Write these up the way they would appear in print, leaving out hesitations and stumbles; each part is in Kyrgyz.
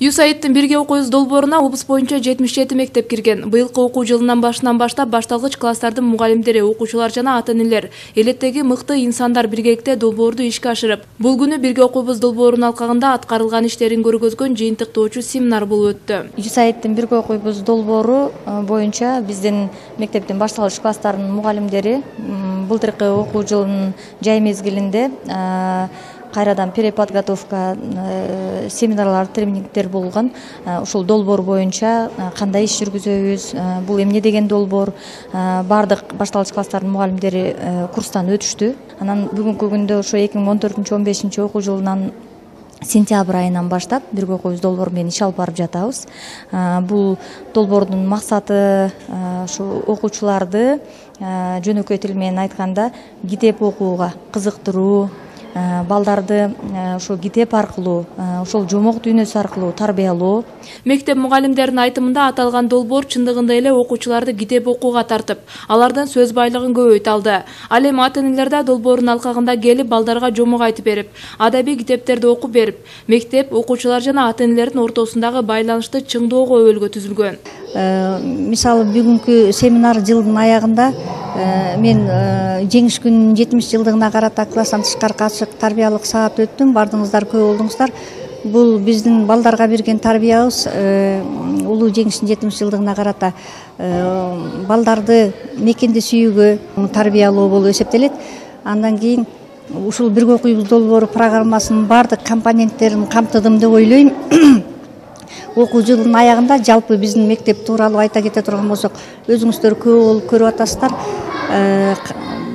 ЮСАИДтин бирге окуйбуз долбооруна облус боюнча 77 мектеп кирген. Быйылкы окуу жылынан башынан баштап башталгыч класстардын мугалимдери, окуучулар жана ата-энелер, элеттеги мыкты инсандар биргеликте долбоорду ишке ашырып, бул күнү бирге окуйбуз долбоорунун алкагында аткарылган иштерин көргөзгөн жыйынтыктоочу семинар болуп өттү. ЮСАИДтин бирге окуйбуз долбоору боюнча биздин мектептин башталгыч класстарынын мугалимдери былтыркы окуу жылынын жай мезгилинде кайрадан переподготовка семинарлар, тренингдер болгон. Ушул долбоор боюнча кандай иш жүргүзөбүз, бул эмне деген долбоор, бардык башталгыч класстардын мугалимдери курстан өтүштү. Анан бүгүнкү күндө ошо 2014-15 окуу жылынан сентябрь айынан баштап бирге окуйбуз долбоору менен иш алып барып жатабыз. Бул долбоордун максаты ушу окуучуларды жөнөкөй тил менен айтканда китеп окууга кызыктыруу, балдарды ошол китеп аркылуу, ошол жомок дүйнөсү аркылуу тарбиялоо. Мектеп мугалимдеринин айтымында аталган долбоор чындыгында эле окуучуларды китеп окууга тартып, алардын сөз байлыгын көбөйтө алды. Ал эми ата-энелер да долбоордун алкагында келип, балдарга жомок айтып берип, адабий китептерди окуп берип, мектеп, окуучулар жана ата-энелердин ортосундагы байланышты чыңдоого өбөлгө түзүлгөн. Мисалы бүгүнкү семинар жылдын аягында мен жеңиш күнүнүн 70 жылдыгына карата класстан тышкаркы ачык тарбиялык саат өттүм. Бардыңыздар, көп болдуңуздар. Бул биздин балдарга берген тарбиябыз улуу жеңиштин 70 жылдыгына карата балдарды мекенди сүйүүгө тарбиялоо болуп эсептелет. Андан кийин ушул бирге окуйбуз долбоору программасынын бардык компоненттерин камтыдым деп ойлойм. Окуу жылынын аягында жалпы биздин мектеп тууралуу айта кете турган болсок, өзүңүздөр көп болуп көрүп атасыздар.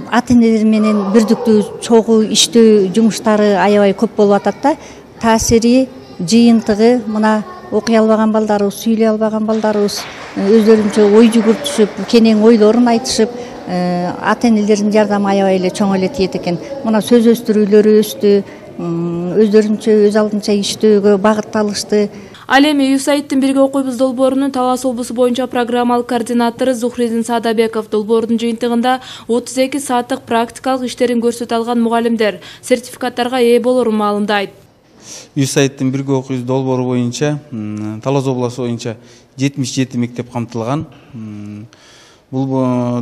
Ата-энелер менен бирдиктүү чогуу иштөө жумуштары аябай көп болуп атат да. Таасири, жыйынтыгы мына окуй албаган балдарыбыз, сүйлөй албаган балдарыбыз өздөрүнчө ой жүгүртүшүп, кенен ойлорун айтышып, ата-энелердин жардамы аябай эле чоң эле тиет экен. Мына сөз өстүрүүлөрү өстү, өздөрүнчө өз алдынча иштөөгө багытталышты. Ал эми ЮСАИДтин бирге окуйбуз долбоорунун Талас облусу боюнча программалык координатору Зухридин Садабеков долбоордун жыйынтыгында 32 сааттык практикалык иштерин көрсөтө алган мугалимдер сертификаттарга ээ болорун маалымдайт. ЮСАИДтин бирге окуйбуз долбоору боюнча Талас облусу боюнча 77 мектеп камтылган. Бул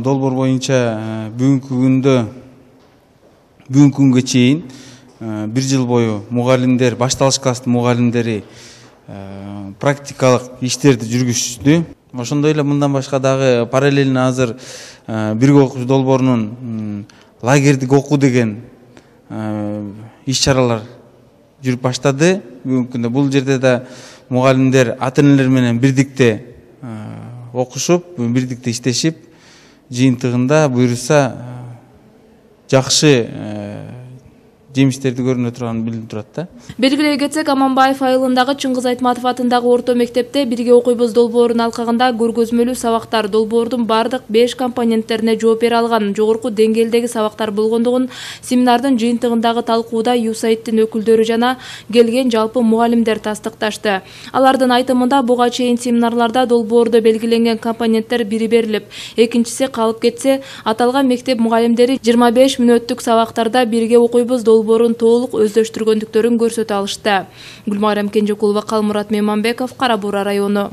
долбоор боюнча бүгүнкү күнгө чейин 1 жыл бою мугалимдер, башталгыч класстын мугалимдери практикалык иштерди жүргүзүштү. Ошондой эле мындан башка дагы параллельно азыр бирге окуйбуз долбоорунун лагердик окуу деген иш-чаралар жүрүп баштады. Бүгүнкү күндө бул жерде да мугалимдер ата-энелер менен бирдикте окушуп, бирдикте иштешип, жыйынтыгында буюрса жакшы жемиштерди көрүнө турганы билинип турат да. Белгилей кетсек, Аманбаев айылындагы Чыңгыз Айтматов атындагы орто мектепте бирге окуйбуз долбоорунун алкагында көргөзмөлүү сабактар, долбоордун бардык 5 компоненттерине жооп бере алган жогорку деңгээлдеги сабактар болгондугун семинардын жыйынтыгындагы талкууда ЮСАИДтин өкүлдөрү жана келген жалпы мугалимдер тастыкташты. Алардын айтымында буга чейин семинарларда долбоордо белгиленген компоненттер бири берилип, экинчиси калып кетсе, аталган мектеп мугалимдери 25 мүнөттүк сабактарда бирге окуйбуз долбоорун толук өздөштүргөндүктөрүн көрсөтө алышты. Гүлмайрам Кенжекулова, Калмурат Мейманбеков, Кара Буура району.